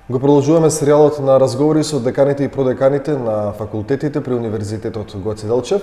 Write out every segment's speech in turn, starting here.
Го продолжуваме серијалот на разговори со деканите и продеканите на факултетите при Универзитетот Гоце Делчев.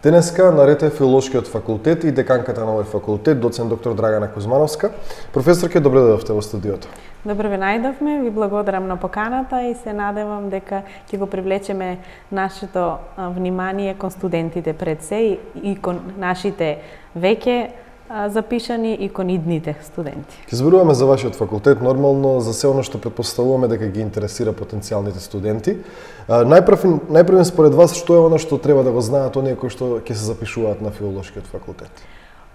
Денеска наред е Филолошкиот факултет и деканката на овој факултет, доцент доктор Драгана Кузмановска. Професорке, добре дојдовте во студиото. Добро ве најдовме, ви благодарам на поканата и се надевам дека ќе го привлечеме нашето внимание кон студентите пред се и кон нашите веќе запишани и кон идните студенти. Ќе зборуваме за вашиот факултет, нормално за се оно што претпоставуваме дека ги интересира потенцијалните студенти. Најпрв според вас, што е оно што треба да го знаат оние кои што ќе се запишуваат на Филолошкиот факултет?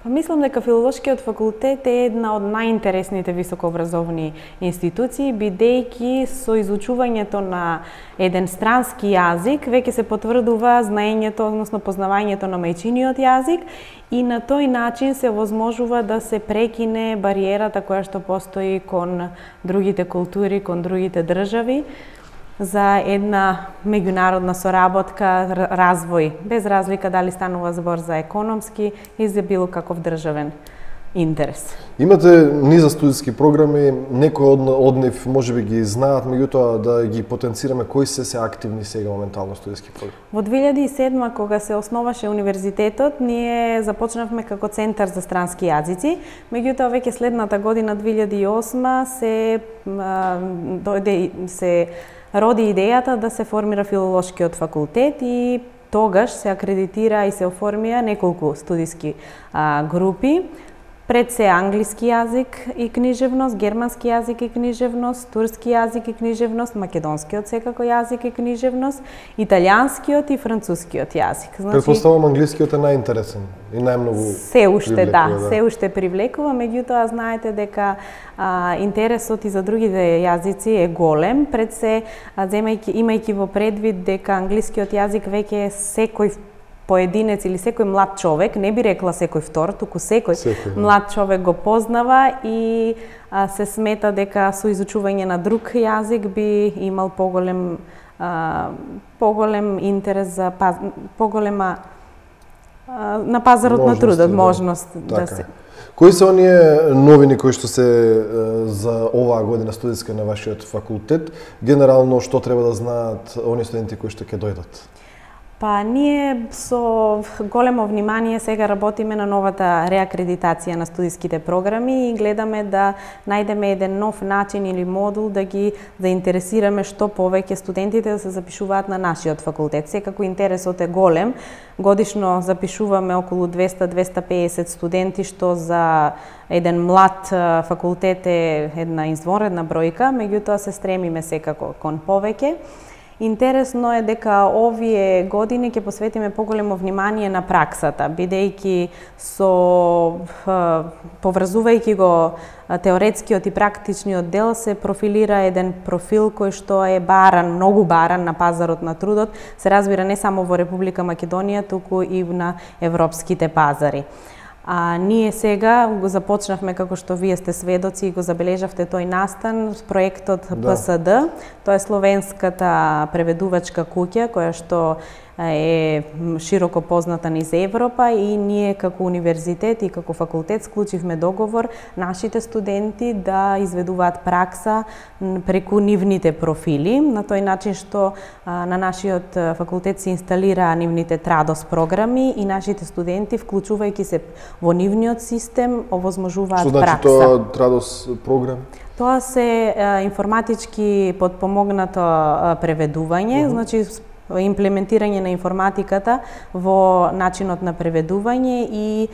Мислам дека Филолошкиот факултет е една од најинтересните високообразовни институции, бидејќи со изучувањето на еден странски јазик веќе се потврдува знаењето, односно познавањето на мајчиниот јазик и на тој начин се возможува да се прекине бариерата која што постои кон другите култури, кон другите држави, за една меѓународна соработка, развој, без разлика дали станува збор за економски и за било каков државен интерес. Имате низа студиски програми, некои од нив можеби ги знаат, меѓутоа да ги потенцираме кои се активни сега моментално студиски програми. Во 2007 кога се основаше универзитетот, ние започнавме како центар за странски јазици, меѓутоа веќе следната година 2008 се роди идејата да се формира Филолошкиот факултет и тогаш се акредитира и се оформија неколку студиски групи. Пред се англиски јазик и книжевност, германски јазик и книжевност, турски јазик и книжевност, македонскиот секако јазик и книжевност, италијанскиот и францускиот јазик. Претпоставувам англискиот е најинтересен и најмногу се уште се уште привлекува, меѓутоа знаете дека интересот и за другите јазици е голем, пред се имајќи во предвид дека англискиот јазик веќе секој поединец или секој млад човек, не би рекла секој втор, туку секој млад човек го познава и се смета дека со изучување на друг јазик би имал поголем интерес за поголема на пазарот на трудот, можност да се. Кои се оние новини кои што се за оваа година студиска на вашиот факултет? Генерално што треба да знаат оние студенти кои што ќе дојдат? Па ние со големо внимание сега работиме на новата реакредитација на студиските програми и гледаме да најдеме еден нов начин или модул да ги заинтересираме што повеќе студентите да се запишуваат на нашиот факултет. Секако интересот е голем. Годишно запишуваме околу 200-250 студенти, што за еден млад факултет е една извонредна бројка, меѓутоа се стремиме секако кон повеќе. Интересно е дека овие години ќе посветиме поголемо внимание на праксата, бидејќи поврзувајќи го теоретскиот и практичниот дел се профилира еден профил кој што е баран, многу баран на пазарот на трудот, се разбира не само во Република Македонија, туку и на европските пазари. Ние сега го започнавме, како што вие сте сведоци и го забележавте тој настан, проектот ПСД, тоа е словенската преведувачка куќа, која што е широко позната низ Европа и ние како универзитет и како факултет склучивме договор нашите студенти да изведуваат пракса преку нивните профили, на тој начин што на нашиот факултет се инсталира нивните Традос програми и нашите студенти, вклучувајќи се во нивниот систем, овозможуваат пракса. Што значи тоа Традос програм? Тоа се информатички подпомогнато преведување, значи имплементирање на информатиката во начинот на преведување и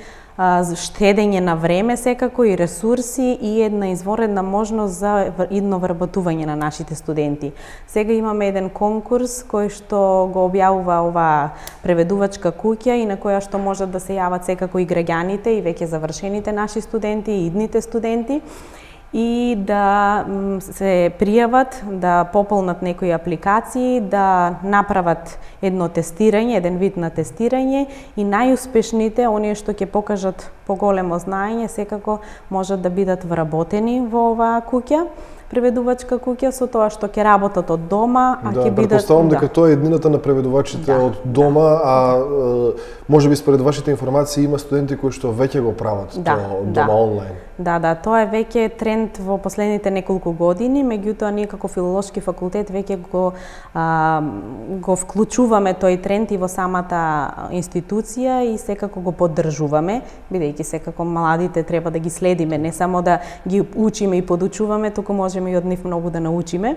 штедење на време секако и ресурси и една извонредна можност за идно вработување на нашите студенти. Сега имаме еден конкурс кој што го објавува оваа преведувачка куќа и на која што можат да се јават секако и граѓаните и веќе завршените наши студенти и идните студенти и да се пријават, да пополнат некои апликации, да направат едно тестирање, еден вид на тестирање и најуспешните, оние што ќе покажат поголемо знаење, секако можат да бидат вработени во оваа куќа. преведувачка куќа со тоа што ќе работат од дома, а ќе бидат... Претпоставам дека тоа е еднината на преведувачите од дома, а можеби според вашите информации има студенти кои што веќе го прават тоа дома онлайн. Да, тоа е веќе тренд во последните неколку години, меѓутоа ние како филолошки факултет веќе го вклучуваме тој тренд и во самата институција и секако го поддржуваме, бидејќи секако младите треба да ги следиме, не само да ги учиме и подучуваме, туку можеме и од нив многу да научиме.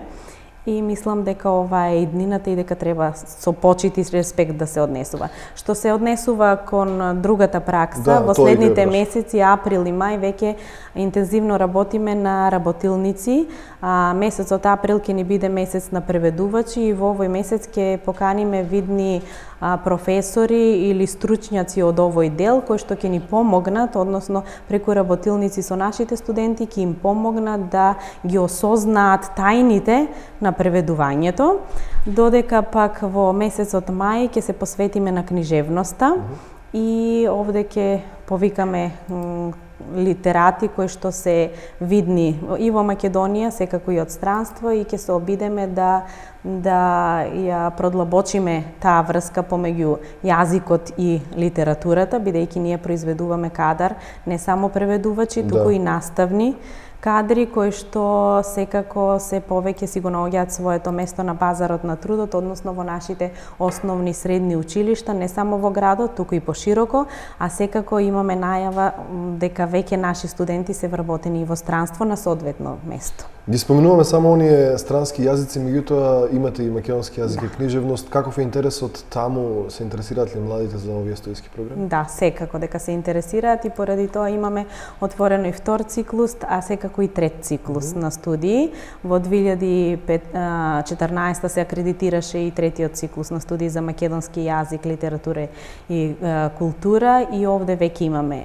И мислам дека ова е иднината и дека треба со почит и респект да се однесува. Што се однесува кон другата пракса, во следните месеци, април и мај, веќе интензивно работиме на работилници. Месецот април ќе ни биде месец на преведувачи и во овој месец ќе поканиме видни професори или стручњаци од овој дел кои што ќе ни помогнат, односно преку работилници со нашите студенти ќе им помогнат да ги осознаат тајните на преведувањето, додека пак во месецот мај ќе се посветиме на книжевноста и овде ќе повикаме литерати кои што се видни и во Македонија, секако и од странство, и ќе се обидеме да ја продлабочиме таа врска помеѓу јазикот и литературата, бидејќи ние произведуваме кадар не само преведувачи, туку и наставни кадри кои што секако се повеќе си го наоѓаат своето место на пазарот на трудот, односно во нашите основни средни училишта, не само во градот, туку и пошироко, а секако имаме најава дека веќе наши студенти се вработени и во странство на соодветно место. Ги споменуваме само оние странски јазици, меѓутоа имате и македонски јазик и книжевност. Каков е интересот таму? Се интересираат ли младите за овие студиски програми? Да, секако дека се интересираат и поради тоа имаме отворено и втор циклус, а секако и трет циклус на студии. Во 2014 се акредитираше и третиот циклус на студии за македонски јазик, литература и култура, и овде веќе имаме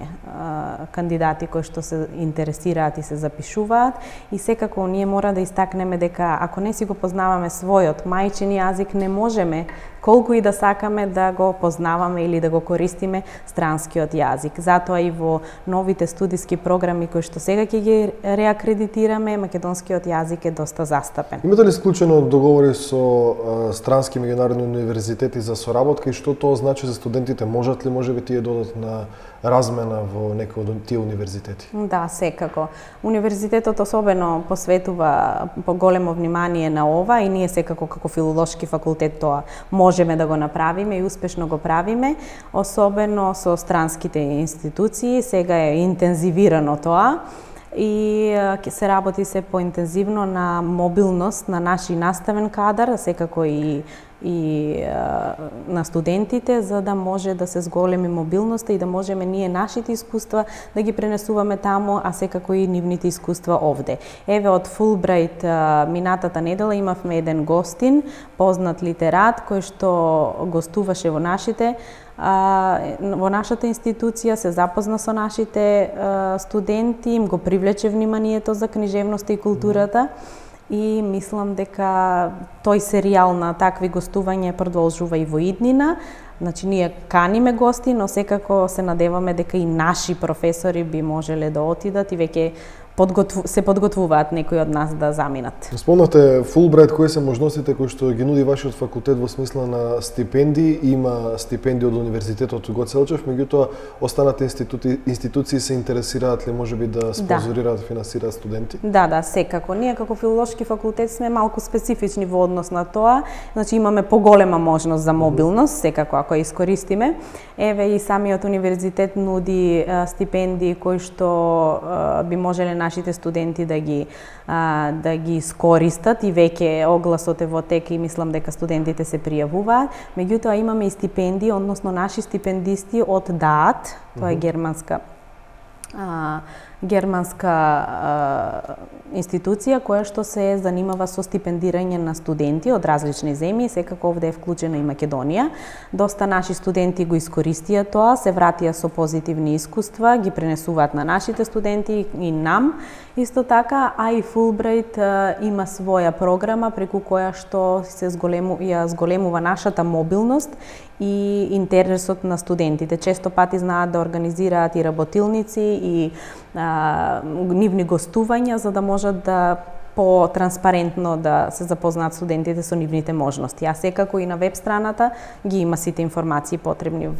кандидати кои што се интересираат и се запишуваат, и секако ние мора да истакнеме дека ако не си го познаваме својот мајчин јазик, не можеме колку и да сакаме да го познаваме или да го користиме странскиот јазик. Затоа и во новите студиски програми кои што сега ќе ги реакредитираме, македонскиот јазик е доста застапен. Имате ли склучено договори со странски меѓународни универзитети за соработка и што тоа значи за студентите? Можат ли можеби тие додат на размена во некој од тие универзитети? Да, секако. Универзитетот особено посветува поголемо внимание на ова и ние секако како филолошки факултет тоа можеме да го направиме и успешно го правиме, особено со странските институции. Сега е интензивирано тоа и ќе се работи се поинтензивно на мобилност на наши наставен кадар, секако и на студентите, за да може да се зголеми мобилноста и да можеме ние нашите искуства да ги пренесуваме таму, а секако и нивните искуства овде. Еве од Фулбрајт минатата недела имавме еден гостин, познат литерат, кој што гостуваше во нашата институција, се запозна со нашите студенти, им го привлече вниманието за книжевноста и културата. И мислам дека тој серијал на такви гостувања продолжува и во иднина. Значи, ние каниме гости, но секако се надеваме дека и наши професори би можеле да отидат и веќе се подготвуваат некои од нас да заминат. Спомнавте Фулбрајт, кои се можностите кои што ги нуди вашиот факултет во смисла на стипендии? Има стипендии од Универзитетот Гоце Делчев, меѓутоа останати институции се интересираат ли можеби да спонзорираат, финансираат студенти? Да, секако. Ние како филолошки факултет сме малку специфични во однос на тоа. Значи имаме поголема можност за мобилност, секако ако ја искористиме. Еве и самиот универзитет нуди стипендии кои што би можеле нашите студенти да ги искористат, и веќе огласот е во тек и мислам дека студентите се пријавуваат. Меѓутоа имаме и стипендии, односно наши стипендисти од ДААТ, тоа е германска институција која што се занимава со стипендирање на студенти од различни земји, секако овде е вклучена и Македонија. Доста наши студенти го искористија тоа, се вратија со позитивни искуства, ги пренесуваат на нашите студенти и нам. Исто така, а и Фулбрајт има своја програма преку која што се зголемува нашата мобилност и интересот на студентите. Често пати знаат да организираат и работилници и нивни гостувања, за да можат да по-транспарентно да се запознаат студентите со нивните можности. А секако и на веб страната ги има сите информации потребни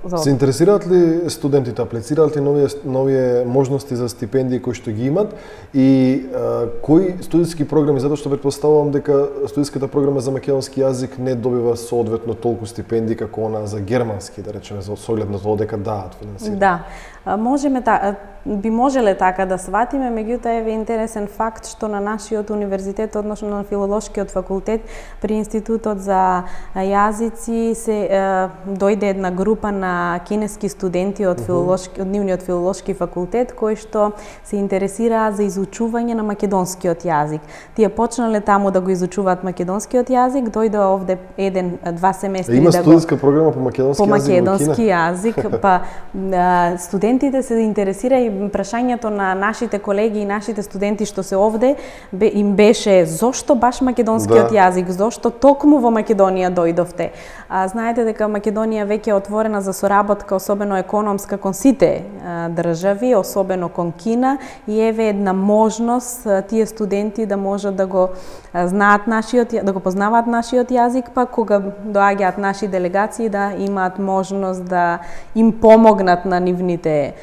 за Се интересираат ли студентите, аплицираат ли нови можности за стипендии кои што ги имат и кои студентски програми, затоа што претпоставувам дека студентската програма за македонски јазик не добива соодветно толку стипендии како она за германски, да речеме, со оглед на тоа дека даат финансирање. Да. Би можеле така да сватиме, меѓутоа е интересен факт што на нашиот универзитет, односно на филолошкиот факултет при Институтот за јазици се дојде една група на кинески студенти од нивниот филолошки факултет кои што се интересираат за изучување на македонскиот јазик. Тие почнале таму да го изучуваат македонскиот јазик, дојдоа овде 1-2 семестри има студентска програма по македонски јазик, па студентите се интересира и прашањето на нашите колеги и нашите студенти што се овде им беше зошто баш македонскиот јазик, зошто токму во Македонија дојдовте. Знаете дека Македонија веќе е отворена за соработка, особено економска, кон сите држави, особено кон Кина, и еве една можност тие студенти да можат да го знаат да го познаваат нашиот јазик, па кога доаѓаат наши делегации да имаат можност да им помогнат на нивните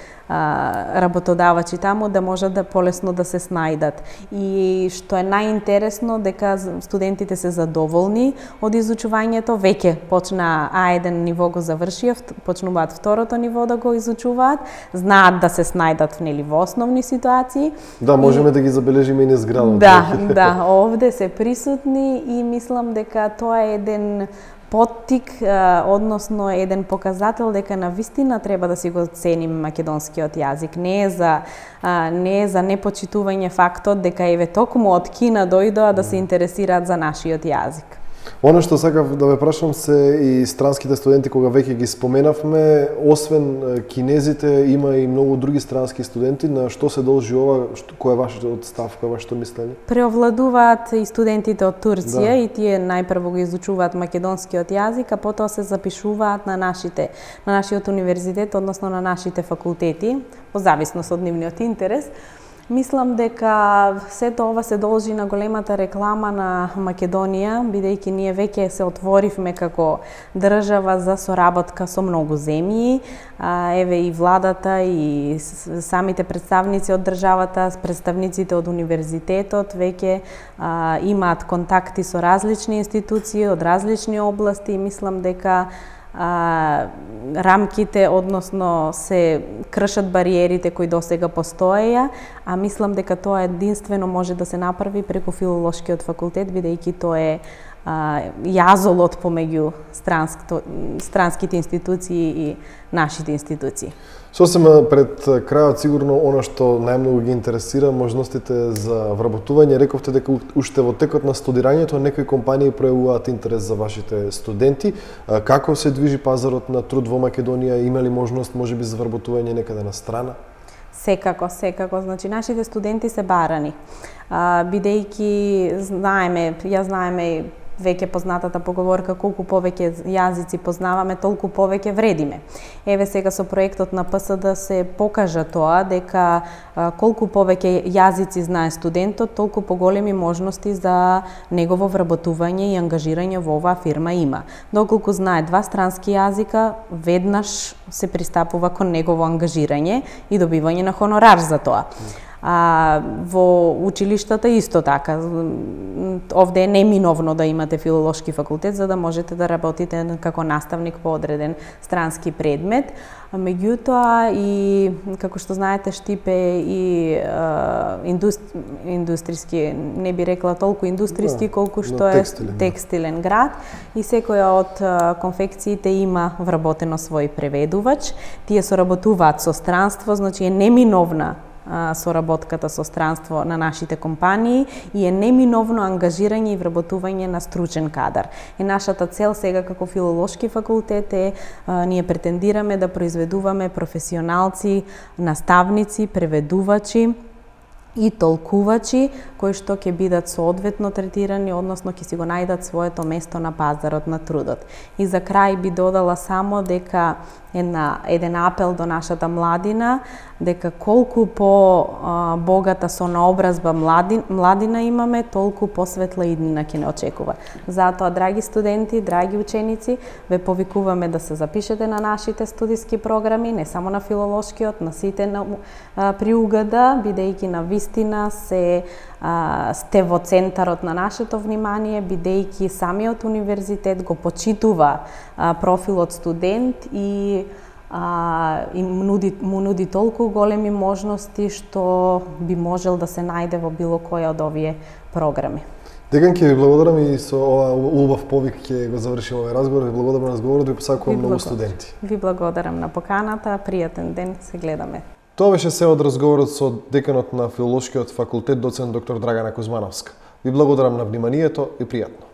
работодавачи таму да можат да полесно да се снајдат. И што е најинтересно дека студентите се задоволни од изучувањето, веќе почна А1 ниво го завршија, почнуваат второто ниво да го изучуваат, знаат да се снајдат во основни ситуации. Да, можеме да ги забележиме и низ градот. Да, овде се присутни и мислам дека тоа е еден поттик, односно еден показател дека навистина треба да си го ценим македонскиот јазик. Не е за непочитување фактот дека еве токму од Кина дојдоа да се интересираат за нашиот јазик. Оно што сакав да ве прашам се и странските студенти, кога веќе ги споменавме, освен кинезите, има и многу други странски студенти. На што се должи ова? Кој е вашиот став, кој е вашето мислење? Преовладуваат и студентите од Турција, и тие најпрво го изучуваат македонскиот јазик, а потоа се запишуваат на нашиот универзитет, односно на нашите факултети, по зависност од нивниот интерес. Мислам дека сето ова се должи на големата реклама на Македонија, бидејќи ние веќе се отворивме како држава за соработка со многу земји. Еве и владата и самите представници од државата, представниците од универзитетот веќе имаат контакти со различни институции од различни области и мислам дека рамките, односно се кршат бариерите кои досега постоеја, а мислам дека тоа единствено може да се направи преку филолошкиот факултет, бидејќи тоа е јазолот помеѓу странските институции и нашите институции. Сосема пред крајот сигурно она што најмногу ги интересира можностите за вработување. Рековте дека уште во текот на студирањето некои компании пројавуваат интерес за вашите студенти. Како се движи пазарот на труд во Македонија? Има ли можност можеби за вработување некаде на страна? Секако. Значи, нашите студенти се барани. Бидејќи знаеме веќе познатата поговорка, колку повеќе јазици познаваме, толку повеќе вредиме. Еве сега со проектот на ПСД се покажа тоа дека колку повеќе јазици знае студентот, толку поголеми можности за негово вработување и ангажирање во оваа фирма има. Доколку знае 2 странски јазика, веднаш се пристапува кон негово ангажирање и добивање на хонорар за тоа. Во училиштата исто така. Овде е неминовно да имате филолошки факултет за да можете да работите како наставник по одреден странски предмет. Меѓутоа и како што знаете Штип е и индустријски, не би рекла толку индустријски колку што е текстилен град и секоја од конфекциите има вработено свој преведувач. Тие соработуваат со странство, значи е неминовна соработката со странство на нашите компании и е неминовно ангажирање и вработување на стручен кадар. И нашата цел сега како филолошки факултет е ние претендираме да произведуваме професионалци, наставници, преведувачи и толкувачи кои што ќе бидат соодветно третирани, односно ќе си го најдат своето место на пазарот на трудот. И за крај би додала само дека еден апел до нашата младина, дека колку по-богата со наобразба младина имаме, толку посветла иднина ќе не очекува. Затоа, драги студенти, драги ученици, ве повикуваме да се запишете на нашите студиски програми, не само на филолошкиот, на сите при УГД, бидејќи на вистина сте во центарот на нашето внимание, бидејќи самиот универзитет го почитува профилот студент и му нуди толку големи можности што би можел да се најде во било која од овие програми. Декан, ќе ви благодарам и со ова убав повик ќе го завршиме овој разговор. Ви благодарам на разговорот, ви посакувам многу студенти. Ви благодарам на поканата, пријатен ден, се гледаме. Тоа беше се од разговорот со деканот на Филолошкиот факултет, доцент доктор Драгана Кузмановска. Ви благодарам на вниманието и пријатно.